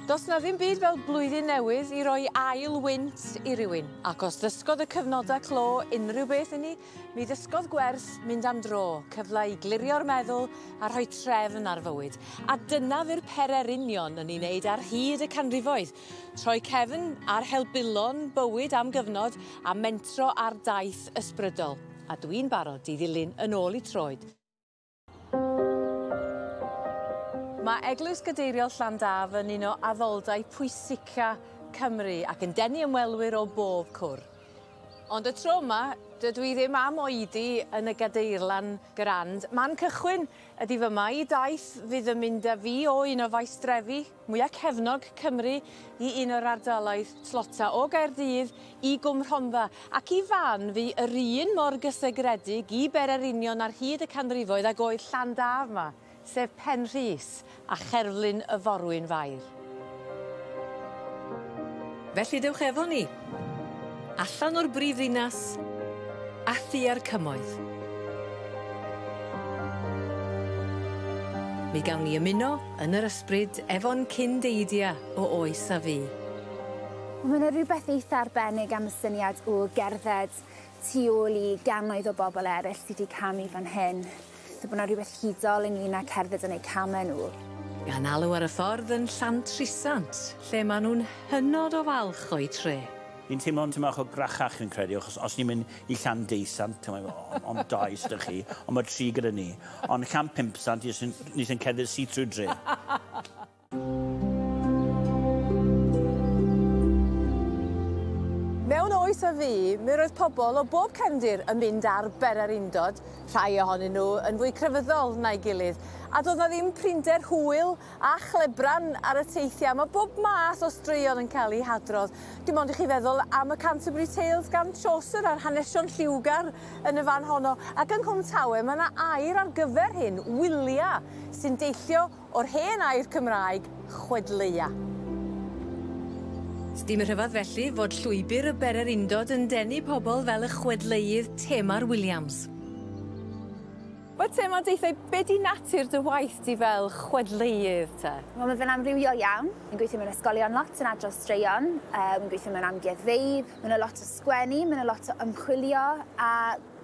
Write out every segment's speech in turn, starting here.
Does 'na ddim byd fel blwyddyn newydd i roi ail wynt i rywun, ac os ddysgodd y cyfnodau clo unrhyw beth i ni, mi ddysgodd gwers mynd am dro, cyfle i glirio'r meddwl a rhoi trefn ar fywyd. A dyna fu'r pererinion yn ei wneud ar hyd y canrifoedd, troi cefn ar helbulon bywyd am gyfnod a mentro ar daith ysbrydol. A dwi'n barod i ddilyn yn ôl i troed. Mae Eglwys Gadeiriol Llandaf yn un o addoldai pwysica Cymru ac yn denu ymwelwyr o bob cwr. Ond y tro yma, dydw i ddim am oedi yn y gadeirlan grand. Man cychwyn ydy fyma i daith fydd yn mynd â fi o un o faestrefi mwyaf cefnog Cymru i un o'r ardaloedd tlota o Gaerdydd i Gwm Rhondda ac i fan fu yr un mor gysegredig i bererinion ar hyd y canrifoedd ag oedd Llandaf 'ma, sef Penrhys a cherflun y Forwyn Fair. Felly dewch efo ni, allan o'r brifddinas a thua'r cymoedd. Mi gawn ni ymuno yn yr ysbryd efo'n cyn-deidia o oes a fu. Mae 'na rhywbeth eitha arbennig am y syniad o gerdded tu ôl i gannoedd o bobl eraill sy 'di camu fan hyn. So bod 'na rhywbeth hudol ynglyn â cerdded yn eu camau nhw. Gan alw ar y ffordd yn Llantrisant, lle maen nhw'n hynod o falch o'u tre. Ni'n teimlo'n tipyn bach o grachach fi'n credu, achos os ni'n mynd i Llanddeusant, ond dau sy 'da chi, ond mae tri gyda ni. Ond Llanpimpsant, ni sy'n cerdded syth trwy'r dre. Mewn oes a fu, mi roedd pobl o bob cefndir yn mynd ar bererindod, rhai ohonyn nhw yn fwy crefyddol na'i gilydd. A doedd 'na ddim prinder hwyl a chlebran ar y teithiau. Mae bob math o straeon yn cael eu hadrodd. Dim ond i chi feddwl am y Canterbury Tales gan Chaucer a'r hanesion lliwgar yn y fan honno. Ac yng Nghwm Tawe mae 'na air ar gyfer hyn, wylia, sy'n deillio o'r hen air Cymraeg, chwedleua. Sdim rhyfedd felly fod llwybr y bererindod yn denu pobl fel y chwedleuydd Tamar Williams. Wel Tamar, deutha i, be di natur dy waith di fel chwedleuydd te? Wel ma' fe'n amrywiol iawn. Fi'n gweithio mewn ysgolion lot yn adrodd straeon, wi'n gweithio mewn amgueddfeydd, ma' 'na lot o sgwennu, ma' 'na lot o ymchwilio a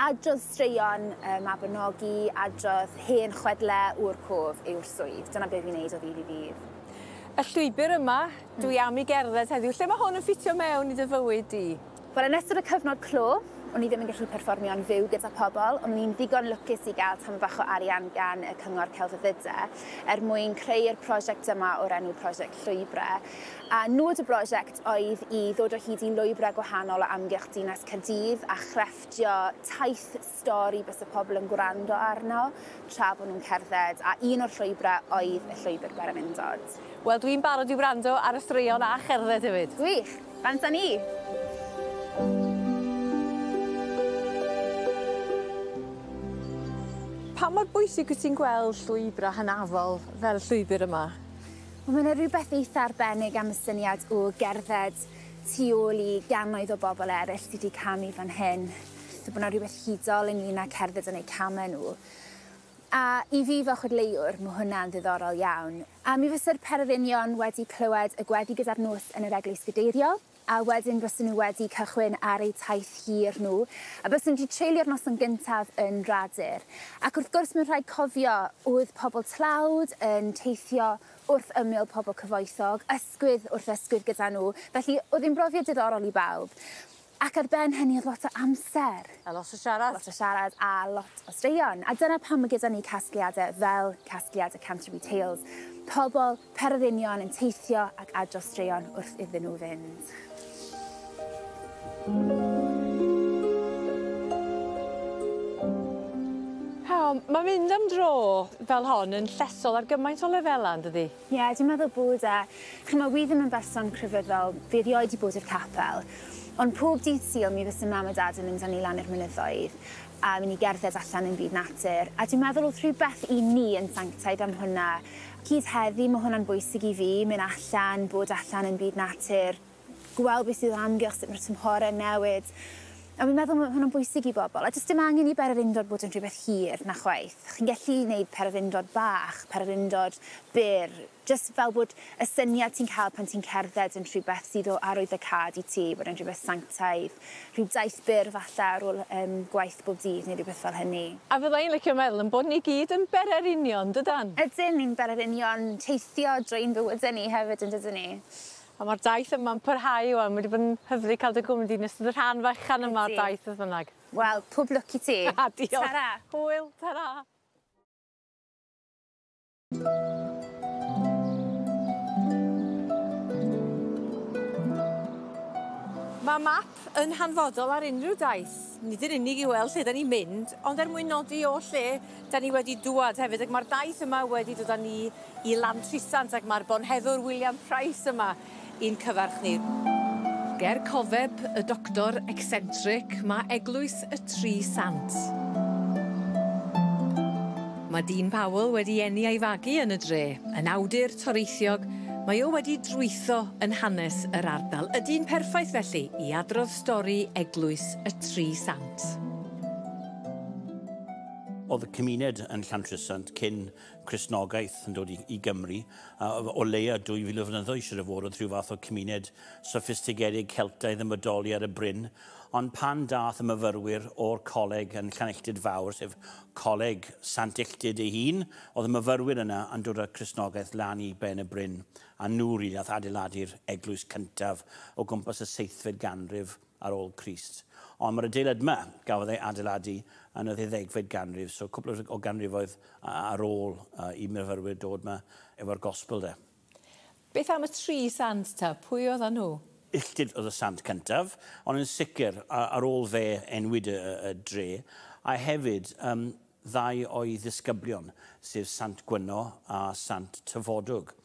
Adrodd straeon y Mabinogi, adrodd hen chwedle o'r cof yw'r swydd. Dyna be' fi'n neud o ddydd i ddydd. Y llwybr yma dwi am 'i gerdded heddiw, lle ma' hwn yn ffitio mewn i dy fywyd di? Wel yn ystod y cyfnod clo, o'n i ddim yn gallu perfformio'n fyw gyda pobol, ond o'n i'n ddigon lwcus i gael tamed bach o arian gan y Cyngor Celfyddyde er mwyn creu'r prosiect yma o'r enw Prosiect Llwybre. A nod y brosiect oedd i ddod o hyd i lwybrau gwahanol o amgylch dinas Caerdydd a chrefft Dio taith stori byse pobl yn gwrando arno tra bod nhw'n cerdded, a un o'r llwybrau oedd y llwybr Bererindod. Wel, dwi'n barod i wrando ar y straeon a cherdded hefyd. Gwych! Bant â ni! Pa mor bwysig wyt ti'n gweld llwybrau hynafol fel y llwybr yma? Wel, mae 'na rhywbeth eitha arbennig am y syniad o gerdded tu ôl i gannoedd o bobl eraill sy 'di camu fan hyn. So bo' 'na rhywbeth hudol ynglyn â cerdded yn eu came nhw. A i fi fel chwedleuwr, ma' hwnna'n ddiddorol iawn. A mi fyse'r pererinion wedi clywed y gweddi gyda'r nos yn yr Eglwys Gadeiriol, a wedyn bysen nhw wedi cychwyn ar eu taith hir nhw, a bysen nhw wedi treulio'r noson gyntaf yn Radur. Ac wrth gwrs mae'n rhaid cofio, oedd pobl tlawd yn teithio wrth ymyl pobl cyfoethog, ysgwydd wrth ysgwydd gyda nhw, felly oedd hi'n brofiad diddorol i bawb. Ac ar ben hynny oedd lot o amser. A lot o siarad. Lot o siarad a lot o straeon. A dyna pam mae gyda ni casgliadau fel casgliad y Canterbury Tales. Pobl, pererinion yn teithio ac adrodd straeon wrth iddyn nhw fynd. Mae mynd am dro fel hon yn llesol ar gymaint o lefelau, yn dydi? Ie, yeah, dwi'n meddwl bod e. Ch'mo', wi ddim yn berson crefyddol, fi erioed 'di bod i'r capel, ond pob dydd Sul mi fyse mam a dad yn mynd â ni lan i'r mynyddoedd a myn' i gerdded allan yn byd natur, a dwi'n meddwl o'dd rhywbeth i ni yn sanctaidd am hwnna. Hyd heddi ma' hwnna'n bwysig i fi, myn' allan, bod allan yn byd natur, gweld beth sydd o amgylch, sut ma'r tymhore'n newid. A fi'n meddwl ma' hwnna'n bwysig i bobl, a does dim angen i bererindod bod yn rhywbeth hir na chwaith. Chi'n gallu neud pererindod bach, pererindod byr, jyst fel bod y syniad ti'n cael pan ti'n cerdded yn rhywbeth sydd o arwyddocâd i ti, bod e'n rhywbeth sanctaidd, rhyw daith byr falle ar ôl gwaith bob dydd neu rhywbeth fel hynny. A fydda i'n licio meddwl yn bod ni gyd yn bererinion, dydan? Ydyn, ni'n bererinion teithio drwy'n bywydau ni hefyd, yn dydyn ni? A mae'r daith yma'n parhau ŵan, mae wedi bod yn hyfryd cael dy gwmni di yn ystod y rhan fechan yma o'r daith beth bynnag. Wel, pob lwc i ti. A diolch. Tara. Hwyl, tara. Mae map yn hanfodol ar unrhyw daith. Nid yn unig i weld lle da ni'n mynd, ond er mwyn nodi o lle da ni wedi dŵad hefyd. Ac mae'r daith yma wedi dod â ni i Lantrisant ac mae'r bonheddwr William Price yma i'n cyfarch ni. Ger cofeb y doctor eccentric, mae Eglwys y Tri Sant. Mae Dean Powell wedi eni a'i fagu yn y dre, yn awdur toreithiog. Mae o wedi drwytho yn hanes yr ardal. Y dyn perffaith felly i adrodd stori Eglwys y Tri Sant. Oedd y cymuned yn Llantrisant cyn Cristnogaeth yn dod i Gymru, o leia 2000 o flynyddoedd siŵr o fod, oedd rhyw fath o cymuned soffistigedig Celtaidd yn bodoli ar y bryn. Ond pan dath y myfyrwyr o'r coleg yn Llanilltud Fawr, sef Coleg Sant Illtud ei hun, oedd y myfyrwyr yna yn dod â'r Cristnogaeth lan i ben y bryn. A nhw rili nath adeiladu'r eglwys cyntaf o gwmpas y 7fed ganrif ar ôl Crist. Ond mae'r adeilad yma gafodd ei adeiladu yn y 12fed ganrif, so cwpl o ganrifoedd ar ôl i myfyrwyr dod yma efo'r gospel de. Beth am y tri sant ta? Pwy oedden nhw? Illtud oedd y sant cyntaf, ond yn sicr ar ôl fe enwyd y dre, a hefyd ddau o'i ddisgyblion, sef Sant Gwyno a Sant Tyfodwg.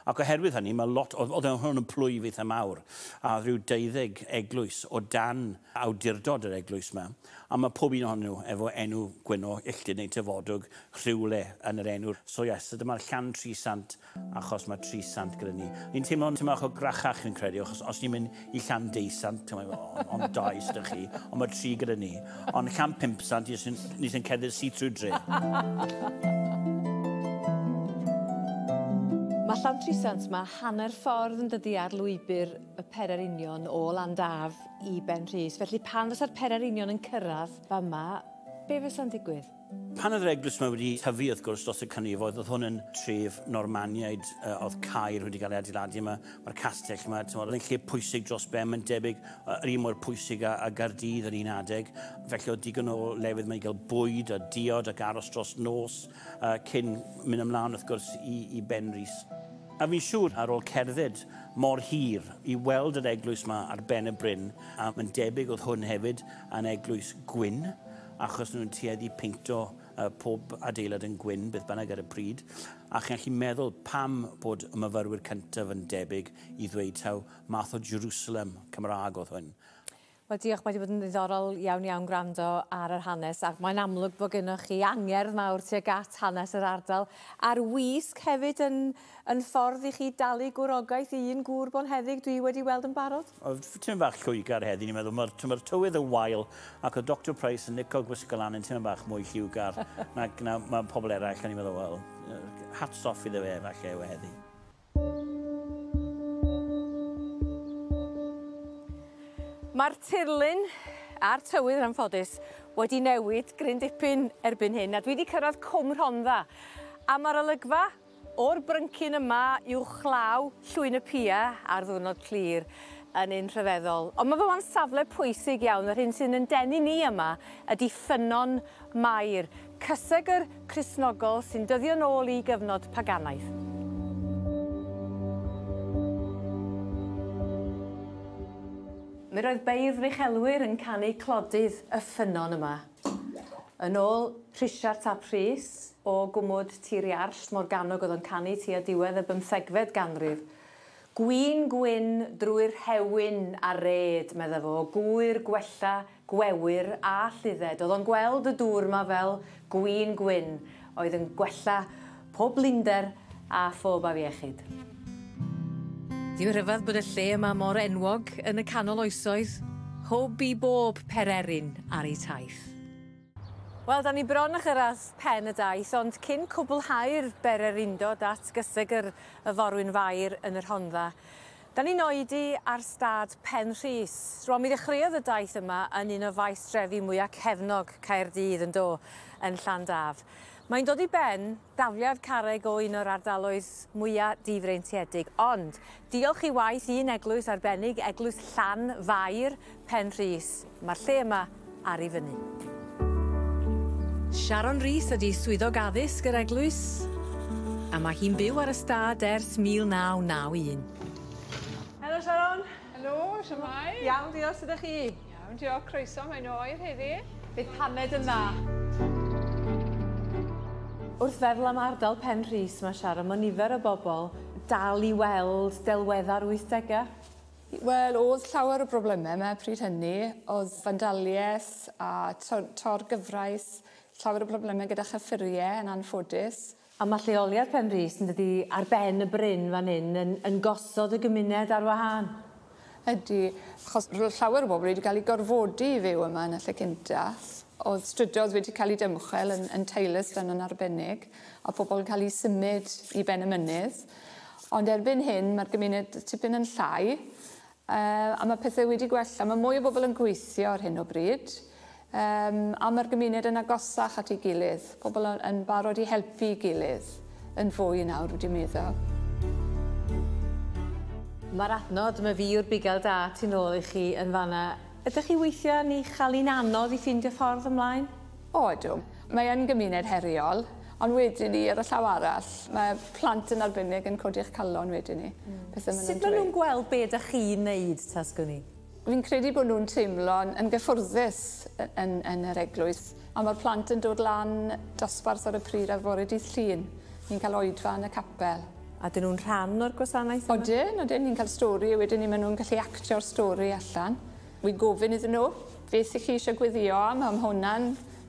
Ac oherwydd hynny, mae lot, oedd hwn yn plwyf eitha mawr, a rhyw 12 eglwys o dan awdurdod yr eglwys yma, a mae pob un ohonyn nhw efo enw Gwyno, Illtud neu Tyfodwg rhywle yn yr enw. So yes, so dyma'r Llan Tri Sant, achos mae tri sant gyda ni. Ni'n teimlo'n teimlo o grachach yn credu, achos os ni'n mynd i Llan Deusant, ond dau sydd chi, ond mae tri gyda ni. Ond Llan Pump Sant, ni sy'n cerdded syth trwy dre. Mae Llantrisant yma hanner ffordd yn dydi ar lwybr y Pererinion o Landaf i Benrhys. Felly pan fysa'r Pererinion yn cyrraedd fama, be fysa'n digwydd? Pan oedd yr eglwys yma wedi tyfu, wrth gwrs, dros y canrifoedd, oedd hwn yn tref Normaniaid, oedd caer wedi cael ei adeiladu yma, mae'r castell yma, oedd yn lle pwysig dros ben, mae'n debyg yr un mor pwysig a Gaerdydd yr un adeg. Felly oedd digon o lefydd yma i gael bwyd a diod ac aros dros nos cyn mynd ymlaen, wrth gwrs, i Benrhys. A fi'n siŵr ar ôl cerdded mor hir i weld yr eglwys yma ar ben y bryn, a mae'n debyg oedd hwn hefyd yn eglwys gwyn, achos nhw'n tueddu peinto pob adeilad yn gwyn, beth bynnag ar y pryd. A chi'n gallu meddwl pam bod y myfyrwyr cyntaf yn debyg i ddweud taw math o Jerusalem Cymraeg oedd hwn. Wel, diolch, mae wedi bod yn ddiddorol iawn iawn gwrando ar yr hanes, ac mae'n amlwg bod gennych chi angerdd mawr tuag at hanes yr ardal. A'r wisg hefyd yn ffordd i chi dalu gwrogaeth i un gŵr bonheddig dwi wedi weld yn barod? Oedd tipyn bach lliwgar heddi, ni'n meddwl, mae'r tywydd yn wael, ac oedd Dr Price yn licio gwisgo lan yn tipyn bach mwy lliwgar na mae pobl eraill, a ni'n meddwl, wel, hats off iddo fe falle yw heddi. Mae'r tirlun a'r tywydd yn anffodus wedi newid gryn dipyn erbyn hyn, a dwi wedi cyrraedd Cwm Rhondda. A mae'r olygfa o'r bryncyn yma uwchlaw Llwyn y Pia ar ddiwrnod clir yn un rhyfeddol. Ond mae fe safle pwysig iawn, yr hyn sy'n yn denu ni yma ydy Ffynnon Mair, cysegr Cristnogol sy'n dyddio nôl i gyfnod paganaidd. Mi roedd beirdd uchelwyr yn canu clodydd y ffynnon yma. Yn ôl Rhisiart ap Rhys o gwmwd Tir Iarll, Morgannwg oedd o'n canu tua diwedd y 15fed ganrif. Gwin gwyn drwy'r rhewyn a red, medda fo, gwyr gwella, gwewyr a lludded. Oedd o'n gweld y dŵr yma fel gwin gwyn, oedd yn gwella pob blinder a phob afiechyd. Ddim rhyfedd bod y lle yma mor enwog yn y canol oesoedd. Hwb i bob pererin ar ei taith. Wel, da ni bron a chyrraedd pen y daith, ond cyn cwblhau'r bererindod at gysegr y Forwyn Fair yn y Rhondda, da ni'n oedi ar stad Penrhys. Rwan, mi ddechreuodd y daith yma yn un o faestrefi mwyaf cefnog Caerdydd yn do, yn Llandaf. Mae'n dod i ben dafliad carreg o un o'r ardaloedd mwyaf difreintiedig, ond diolch i waith un eglwys arbennig, Eglwys Llanfair Penrhys, mae'r lle yma ar ei fyny. Sharon Rees ydi swyddog addysg yr eglwys, a mae hi'n byw ar y stad ers 1991. Helo Sharon! Helo, shwmae? Iawn, diolch, sut ydych chi? Iawn, diolch, croeso, mae'n oer heddi. Bydd paned yn dda. Wrth feddwl am ardal Penrhys, mae Sharon, mae nifer o bobl dal i weld delwedda'r 80au. Wel, oedd llawer o broblemau yma pryd hynny. Oedd fandaliaeth a torgyfraith, llawer o broblemau gyda chyffuriau yn anffodus. A mae lleoliad Penrhys yn dydi ar ben y bryn fan hyn yn gosod y gymuned ar wahân. Ydy, achos roedd llawer o bobl wedi cael eu gorfodi i fyw yma yn y lle cynta. Oedd strydoedd wedi cael eu dymchwel yn Taylorstown yn arbennig, a pobl yn cael eu symud i ben y mynydd. Ond erbyn hyn, mae'r gymuned tipyn yn llai, a mae pethau wedi gwella. Mae mwy o bobl yn gweithio ar hyn o bryd, a mae'r gymuned yn agosach at ei gilydd. Pobl yn barod i helpu ei gilydd yn fwy nawr, wedi meddwl. Mae'r adnod, mae fi yw'r bugail da tu nôl i chi yn fanna. Ydych chi weithiau yn ei chael hi'n anodd i ffeindio ffordd ymlaen? O, ydw. Mae yn gymuned heriol, ond wedyn ni, ar y llaw arall, mae plant yn arbennig yn codi'ch calon wedyn ni. Sut maen nhw'n gweld be ydych chi'n neud, tasgwn ni? Fi'n credu bod nhw'n teimlo'n yn gyffwrddus yn yr eglwys, a mae'r plant yn dod lan dosbarth ar y pryd ar fore dydd Llun. Ni'n cael oedfa yn y capel. A dyn nhw'n rhan o'r gwasanaeth yma? Odyn, odyn. Ni'n cael stori, a wedyn ni maen nhw'n gallu actio'r stori allan. Wi'n gofyn iddyn nhw beth ych chi eisiau gweddio am, a ma' hwnna'n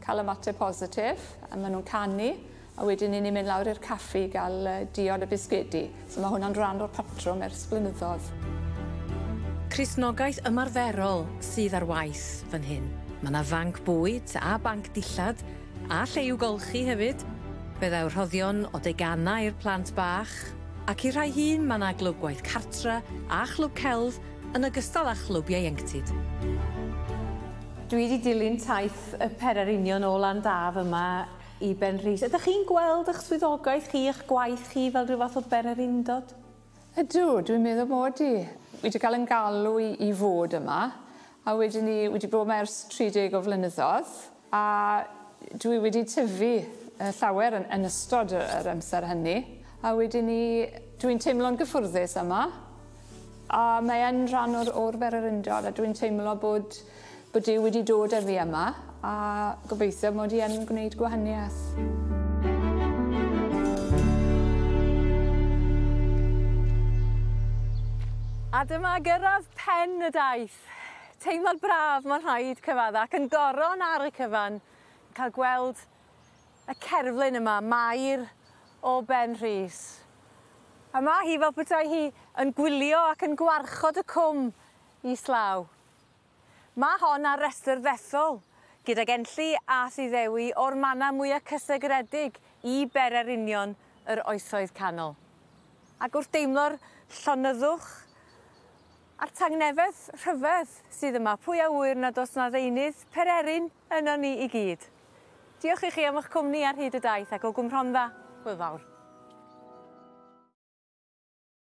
cael ymateb positif, a maen nhw'n canu, a wedyn ni'n mynd lawr i'r caffi i gael diod a bisgedi. So mae hwnna'n rhan o'r patrwm ers blynyddoedd. Cristnogaeth ymarferol sydd ar waith fan hyn. Mae yna fanc bwyd a banc dillad, a lle i'w golchi hefyd. Fe ddaw rhoddion o deganau i'r plant bach, ac i'r rhai hŷn mae yna glwb gwaith cartra a chlwb celf yn ogystal â chlwb ieuenctid. Dwi wedi dilyn taith y pererinion o Landaf yma i Benrhys. Ydych chi'n gweld eich swyddogaeth chi, eich gwaith chi fel rhyw fath o bererindod? Ydw, dwi'n meddwl mod i. Wedi cael yn galw i fod yma, a wedyn ni wedi bod yma ers 30 o flynyddoedd, a dwi wedi tyfu llawer yn ystod yr amser hynny, a wedyn ni, dwi'n teimlo'n gyffwrddus yma, a mae yn rhan o'r bererindod, a dwi'n teimlo bod Duw wedi dod â fi yma, a gobeithio mod i yn gwneud gwahaniaeth. A dyma gyrraedd pen y daith. Teimlad braf, mae'n rhaid cyfadda, ac yn goron ar y cyfan, cael gweld y cerflun yma, Mair o Benrhys. A mae hi fel petai hi yn gwylio ac yn gwarchod y cwm islaw. Mae hon ar restr ddethol, gydag Enlli a Thyddewi o'r mannau mwyaf cysegredig i bererinion yr oesoedd canol. Ac wrth deimlo'r llonyddwch a'r tangnefedd rhyfedd sydd yma, pwy a ŵyr nad oes na ddeunydd pererin yno ni i gyd. Diolch i chi am eich cwmni ar hyd y daith ac o Gwm Rhondda, hwyl fawr.